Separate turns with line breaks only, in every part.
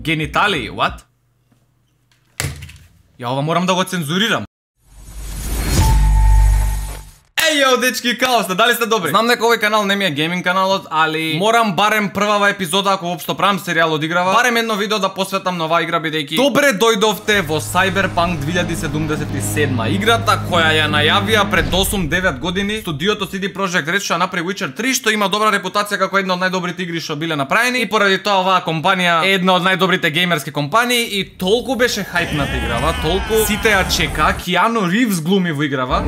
Гениталии, what? Ја ова морам да го цензурирам. Ејо, дечки, као сте, дали сте добри? Знам дека овој канал не ми е гейминг каналот, али морам барем првава епизода, ако воопшто правам серијал од играва, барем едно видео да посветам на оваа игра, бидејќи добре дојдовте во Cyberpunk 2077, играта која ја најавија пред 8-9 години студиото CD Projekt Red што направи Witcher 3, што има добра репутација како една од најдобрите игри што биле направени, и поради тоа оваа компанија е една од најдобрите геймерски компании и толку беше хајпната играва, толку сите ја чека, Киану Ривз глуми во играва.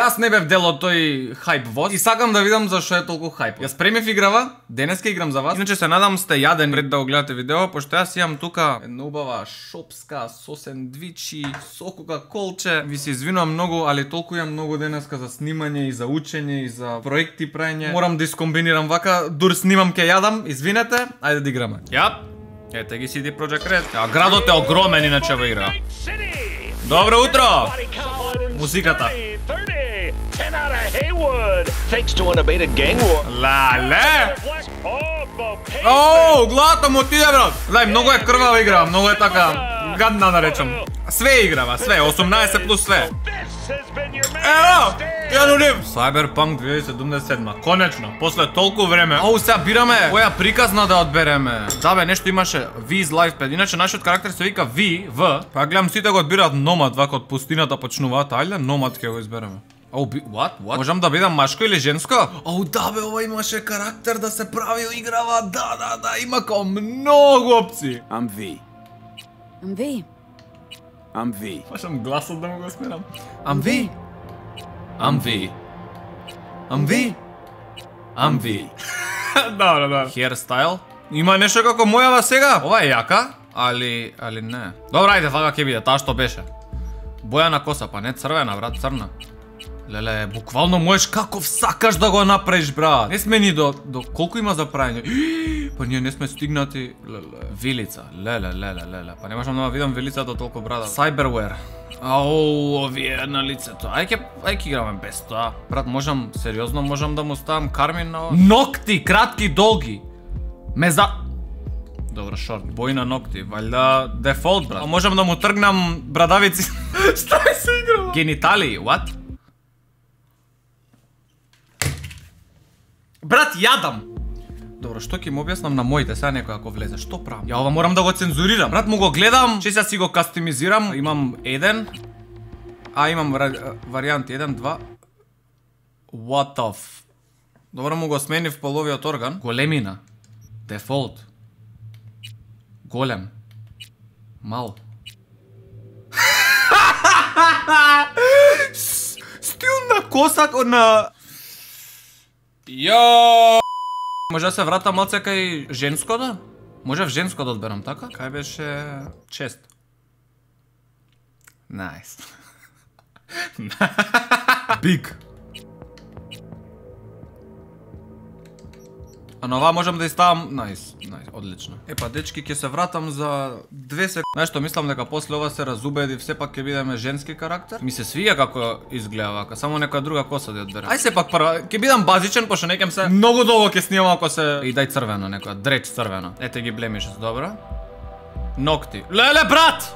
Јас не бев дел од тој хајп воз и сакам да видам зашто е толку хајп. Јас премив играва, денеска играм за вас. Иначе се надам сте јаден пред да го гледате видео, пошто јас имам тука една убава шопска со сендвичи, со кока-колче. Ви се извинувам многу, али толку имам многу денеска за снимање и за учење и за проекти праење. Морам да искомбинирам вака, дур снимам ке јадам, извинете, ајде да играме. Јап. Ете ги CD Projekt Red. Градот е огромен иначе во игра. Добро утро. Музиката.
10 out of Haywood, thanks to unabated gang war.
Лале! Оу, главата му отиде, брат! Гледај, многу е крвава игра, многу е така гадна да речем. Све играва, све, 18 плюс све. Ево! Киану Ривз! Cyberpunk 2077, конечно, после толку време. Оу, сега бираме која приказна да одбереме. Да бе, нешто имаше V's Lifepad, иначе нашиот карактер се вика V, па гледам сите го одбираат Nomad, вака од пустината почнуваат, ајде, Nomad ќе го избереме. Оу, what? Можам да бидам машко или женско? Оу, да бе, ова имаше карактер да се прави играва, да, има као многу опции.
I'm V.
I'm V.
I'm V.
Пашам гласот да му го сменам. I'm V. I'm V. I'm V. I'm V. Да. Hairstyle. Има нешто како мојава сега. Ова е јака, али не. Добра, ајде, вака ќе биде, таа што беше. Боја на коса, па не црвена, брат, црна. Леле, буквално можеш каков сакаш да го направиш, брат. Не сме ни до колку има за праење. Па ние не сме стигнати. Вилица. Леле. Па не можам да видам вилицата толку, брат. Cyberware. Ау, овие на лицето. Ајке играме без тоа. Брат, сериозно можам да му ставам кармин на ова? Нокти, кратки, долги. Добро, шорт. Бој на нокти. Валјда дефолт, брат. Можам да му тргнам брадавици. Стај се играва. Гениталии, what? Брат, јадам! Добро, што ќе му објаснам на моите, сега некој ако влезе, што правам? Ја ова морам да го цензурирам. Брат, му го гледам, че сега си го кастомизирам. Имам еден, имам варијанти 1, 2. What the f... Добро, му го сменив половиот орган. Големина. Дефолт. Голем. Мал. Стил на косак на... Јо! Може да се врата малце кај женското? Може в женско да одберам, така? Кај беше чест. Найс. Биг. А на ова можам да иставам... Найс, одлично. Епа, дечки, ќе се вратам за 2 секунди. Знаеш што, мислам дека после ова се разубеди, все пак ќе бидеме женски карактер. Ми се свија како изгледа вака, само некоја друга коса да одберам. Ај се пак прва, ќе бидам базичен, пошто некем се многу долго ќе снимам ако се... И дај црвено некоја, дреч црвено. Ете ги блемишес, добро. Нокти. Леле, брат!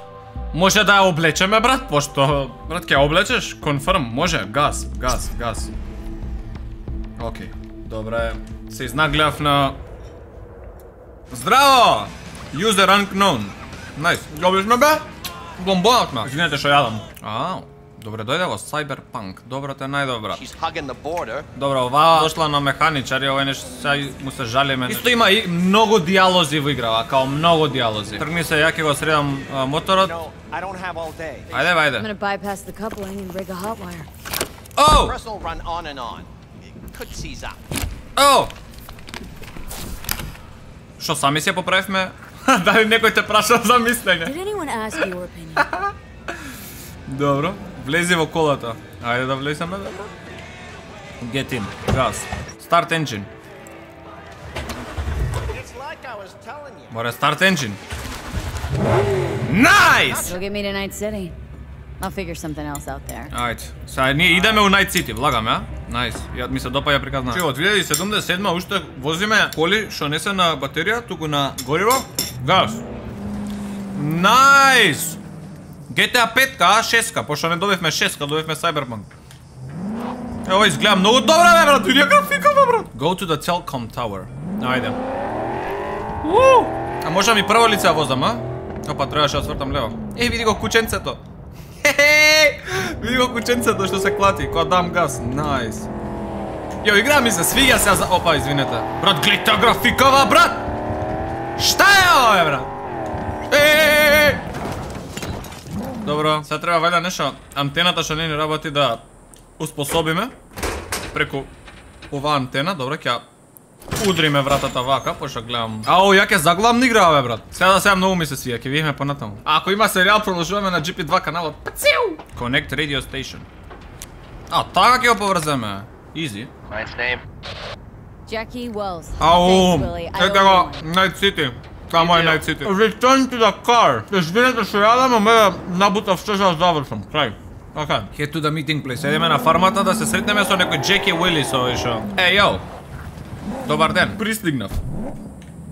Може да ја облечеме, брат, пошто... Брат, ќе облечеш? Конфирм, може, газ. Океј, добре. Се изнагледав на... Здраво! User unknown. Найс. Добре сме, бе? Бомбонат ме. Извинете што јадам. Добре, дојде во Cyberpunk. Доброто е најдобра. Добро, ова дошла на механичари, ова нешто сега му се жалиме. Исто има и многу диалози во играва, као многу диалози. Тргни се, ја ќе го средам моторот. Ајде. Шо, сами се поправивме? Дали некој те праша за мислење? Добро, влези во колата. Ајде да влеземе, добро. Get in, газ. Start engine. Море start engine. Nice!
Go get me to Night City. I'll figure something else out there.
Ајде, сега ние идеме у Night City, влагаме, а? Најс. Ја ми се допаѓа приказна. Че од 2077 уште возиме коли што не се на батерија, туку на гориво. Газ. Најс. GTA 5-ка, 6-ка, пошто не добивме 6-ка, добивме Cyberpunk. Ево изгледа многу добра, бе, брат, види графика, бе, брат. Go to the Telcom Tower. Ајде. А може ми прво лице возам, а? Опа, требаше да свртам лево. Еј, види го кученцето. Види го кученцето што се клати, кога дам газ. Најс. Јо, игра ми се свиѓа се за... Опа, извинете. Брат, гледај та графикава, брат! Шта е ова, бе, брат? Добро, сега треба вајда нешто антената што не ни работи да успособиме преку оваа антена. Добро, ќе удриме вратата вака, пошто гледам. Ау, ја ќе заглавам игра, бе, брат. Сега многу ми се свија, ќе видиме понатаму. Ако има серијал, продолжуваме на GP2 каналот. Пациу! Connect Radio Station. А, така ќе го поврземе. Easy.
Mine's name.
Jackie Wells.
Ау, ете го, Night City. Само е Night City. Return to the car. Извинете што јадам, ме набутав што да завршам. Крај. Така. Head to the meeting place. Едеме на фармата да се сретнеме со некој Jackie Willis овој шо. Јоу. Добар ден. Пристигнав.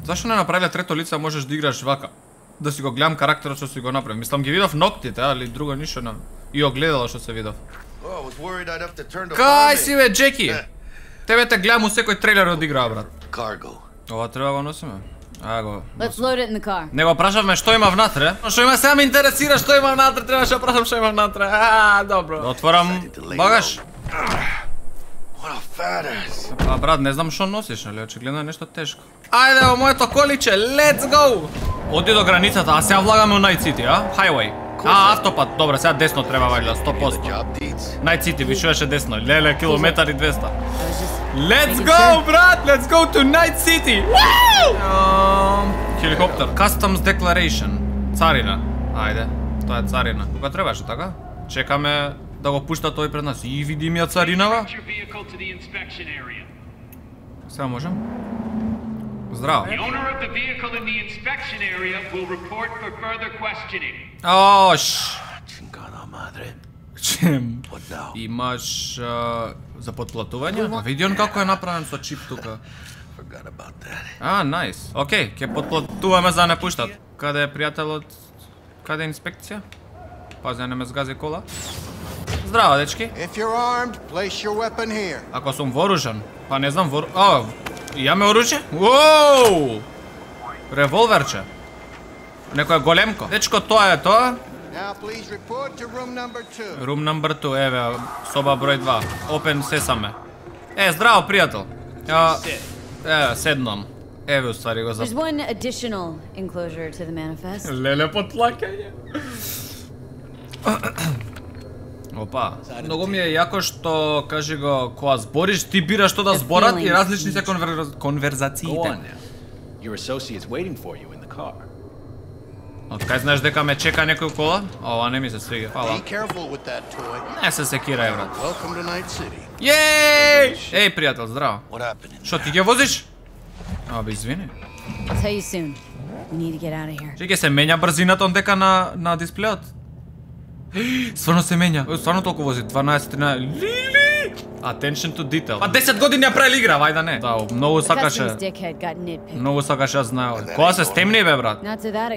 Зашто не направиле трето лице, можеш да играш вака? Да си го гледам карактерот што си го направи. Мислам ги видов ноктите, али друго ништо на. И огледало што се видов. Кај си бе, Джеки? Тебе те гледам у секој трейлер од игра, брат. Ова треба го носиме.
Let's load it in the car.
Не го прашавме што има внатре. Што има, сега ме интересира што има внатре, требаше да прашам што има внатре. Добро. Отворам багаж. А брат, не знам што носиш, али очигледно е нешто тешко. Ајде во моето количе, let's go! Оди до границата, а сега влагаме у Night City, а? Highway. Автопат, добре, сега десно треба вајда, 100%. Night City, вишуваше десно, леле, километар и 200. Let's go, брат, let's go to Night City! Хеликоптер. Customs Declaration. Царина. Ајде, тоа е царина. Кога требаше, така? Чекаме да го пушта тој пред нас. И види ми ја царинава. Сега можем? Здраво. Ош. Чем? Имаш за подплатување? Види он како е направен со чип тука. Најс. Океј, ќе подплатуваме за не пуштат. Каде е пријателот? Каде е инспекција? Пази да не ме згази кола. Здраво, дечки. Ако сум вооружен, па не знам имаме оружје? Уоу! Револверче. Некој големко. Дечко, тоа е тоа. Room number 2, еве, соба број 2. Open сесаме. Здраво, пријател. Седнам. Еве, уствари го за...
There's one additional enclosure to the manifest.
Леле, потлакање. Опа, многу ми е јако што, кажи го, кога збориш, ти бираш што да зборат и различни се конверзациите. Од кај знаеш дека ме чека некој кола? Ова не ми се свига. Фала. Не се секирај, брат. Јеј! Еј, пријател, здраво. Шо, ти ќе возиш? Бе, извини. Че ќе се менја брзината дека на дисплеот? Стварно се менја. Стварно толку вози. 12, 13... Лили! Attention to detail. Па 10 години ја правил игра, вајда не. Да, многу сакаше. Многу сакаше да знае. Кога се стемни, бе, брат?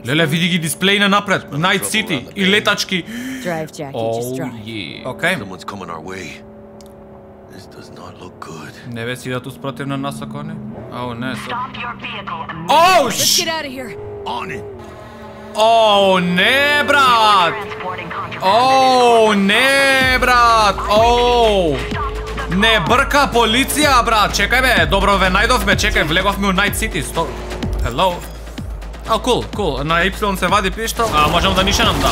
Леле, види ги дисплејна напред. Night City и летачки. Океј. Не ве си идат успротивна нас, ако не? Ау, не. Оу, не, брат! Оу, не, брат! Оу! Не брка полиција, брат! Чекај, бе, добро ве најдовме, чекај, влеговме у Night City. Hello? Кул. На Y се вади пиштол. Можем да нишенам, да.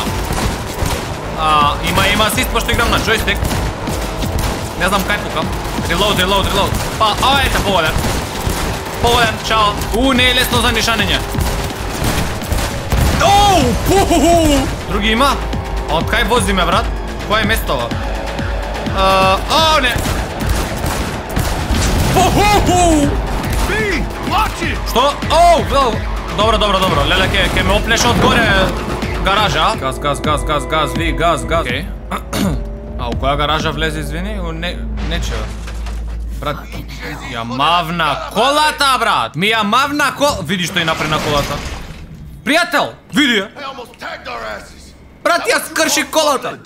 Има асист, пошто играм на джойстик. Не знам кај пукам. Reload. Па, ете, поводен, чао. Не е лесно за нишанење. Други има? Од кај возиме, брат? Кој е местова? Не. Што? Добро. Леле, ке ме опнеш од горе гаража. Газ, ви, газ. Океј. У која гаража влезе, извини? Нечева. Брат, ја мавна колата, брат! Ми ја мавна кол... Види што и напред на колата. Пријател, види ја! Брат, ја скрши колата!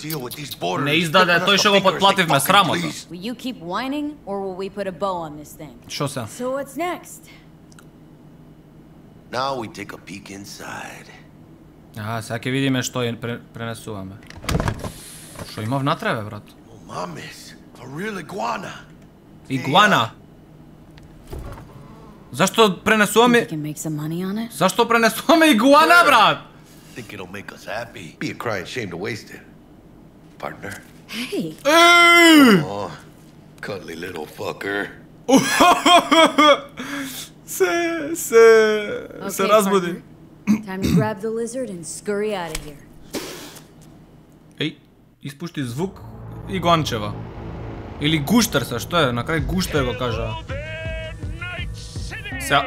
Не издаде, тој што го подплативме, срамота. Шо се? Сега ќе видиме што пренесуваме. Шо има внатре, бе, брат? Игуана. Зашто пренесуваме... Зашто пренесуваме игуана, брат?
Think it'll make us happy. Be a crying shame to waste it. Partner.
Hey.
Oh, cuddly little fucker.
Se разбуди.
Time to grab the lizard and scurry out of here.
Еј, испушти звук игуанчева. Или гуштер се, што е? На крај гуштер го кажа. Сега.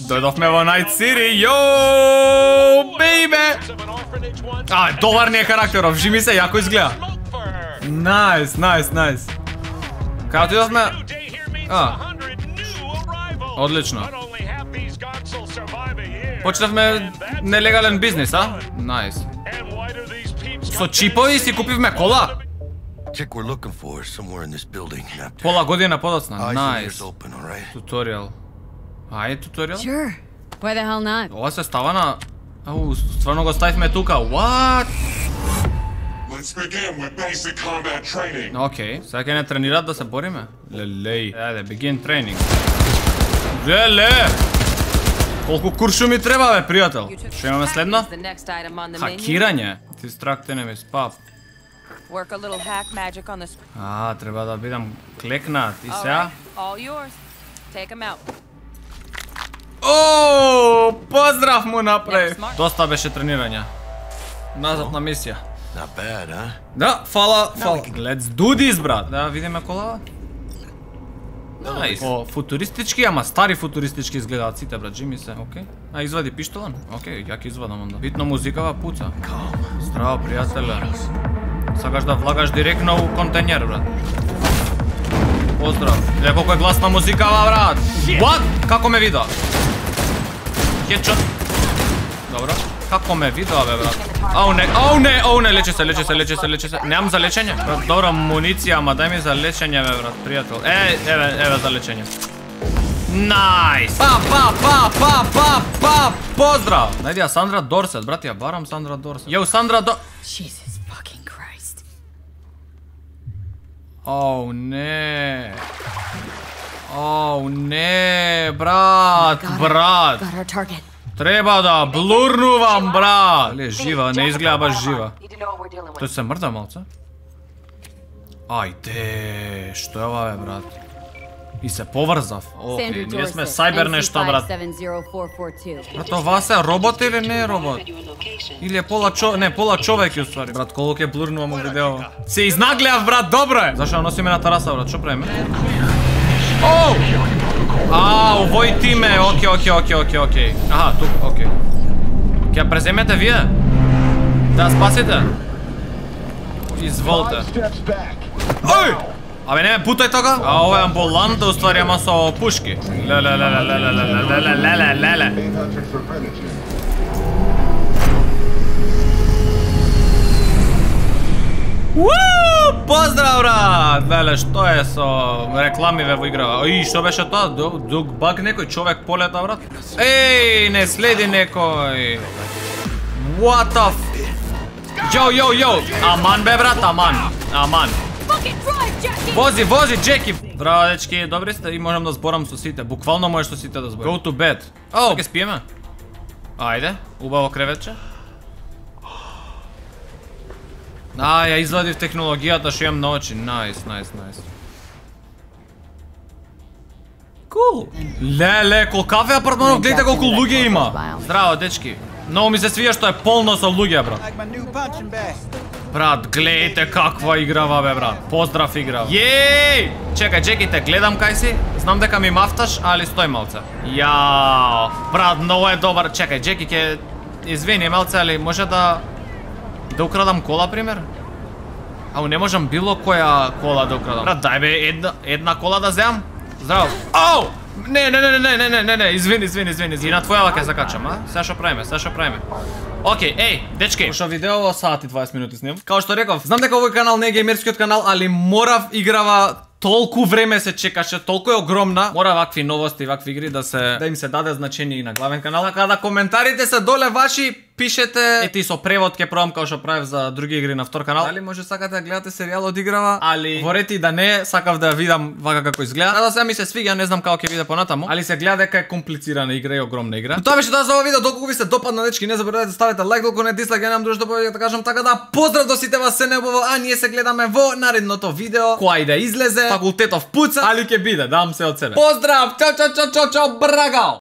Дојдовме во Night City, йоу, бейбе! Добар ни е карактеров, жи ми се, јако изгледа. Најс. Кај отидовме? Одлично. Почнавме нелегален бизнис, а? Најс. Со чипови си купивме кола? Пола година подоцна. Најс. Туторијал. Ајде туторијал?
Sure. Why the hell not?
Ова се става на... стварно го ставивме тука. What? Океј, сега ќе не тренират да се бориме? Лелеј. Ајде, begin training. Леле! Колку куршу ми треба, бе, пријател? Што имаме следно? Хакирање. Distract enemies, pap. Треба да бидам клекнат. И сега? О, поздрав му направив. Доста беше тренирање. Назад на мисија. Да, фала. Let's do this, брат. Да видиме колава. Најс. Футуристички, ама стари футуристички изгледаат сите, брат, джими се, окей. Извади пиштолан? Окей, ја ќе извадам онда. Битно музикава пуца. Здраво, пријателе. Сакаш да влагаш директно у контенер, брат. Поздрав. Гледа колко е гласна музикава, брат. What? Како ме видоа? Хедшот. Добро. Како ме видоа, бе, брат? Ау не, лече се. Немам за лечење. Брат, добра муниција, ама дај ми за лечење, бе, брат, пријател. Еве за лечење. Најс! Па! Поздрав! Најди ја Сандра Дорсет, брат, ја барам Сандра Дорсет. Јоу, Сандра Дорсет.
Jesus fucking Christ.
Оу, не, брат.
Got our target.
Треба да блурнувам, брат. Дали е жива? Не изгледа баш жива. Тој се мрда малце? Ајде, што е ова, бе, брат? И се поврзав. Океј, ние сме сайбер нешто, брат. Брат, ова се робот или не е робот? Или е пола човек, уствари. Брат, колку ќе блурнувам у видео. Се изнагледав, брат, добро е. Зашо носиме на тараса, брат, што правиме? Оу! Овој тиме, окей. Аха, тук, окей. Ќе преземете вие? Да спасите? Изволте. Ој! Абе не ме путај тога? Ова е амбуланта, уствари, ама со пушки. Леле. Поздрав, брат! Леле, што е со рекламиве во играва? Што беше тоа? Дук баг некој човек полета, брат? Еј, не следи некој. What the f... Йоу. Аман, бе, брат, аман. Вози, Джеки. Здраво, дечки, добри сте и можам да зборам со сите. Буквално можеш со сите да зборам. Go to bed. Ке спиеме? Ајде, убаво креветче. Ја извадив технологијата што имам на очи. Најс. Кул. Леле, колкав е апартманов, гледате колку луѓе има. Здраво, дечки. Многу ми се свија што е полно со луѓе, брат. Брат, гледайте каква играва, бе, брат. Поздрав играва. Јеј! Чекај, Джеките, гледам кај си. Знам дека ми мафташ, али стој малце. Јао, брат, многу е добар. Чекај, Джеки ќе извини малце, али може да украдам кола, пример? Ау, не можам било која кола да украдам. Брат, дај бе една кола да земам. Здраво. Ау! Не, извини. И на твојава ќе закачам, а? Сега што правиме? Океј, еј, дечки. Ушо видео во сат и 20 минути снимам. Као што реков, знам дека овој канал не е геймерскиот канал, али морав играва толку време се чекаше, толку е огромна. Мора вакви новости, вакви игри да им се даде значење и на главен канал. Така да коментарите се доле ваши, пишете. Ети со превод ќе пробам као што правев за други игри на втор канал. Дали може сакате да гледате серијал од играва, али ворете да не, сакав да ја видам вака како изгледа. Да сега ми се свиѓа, не знам како ќе биде понатаму, али се гледа дека е комплицирана игра и огромна игра. Но тоа беше тоа за овој видео, доколку ви се допадна дечки, не заборавајте да ставите лайк, доколку не дислайк, немам друго што повеќе да кажам, така да поздрав до сите вас, се неубаво, а ние се гледаме во наредното видео, која и да излезе. Факултетов пуца, али ќе биде, дам се од себе. Поздрав, чао, брагао!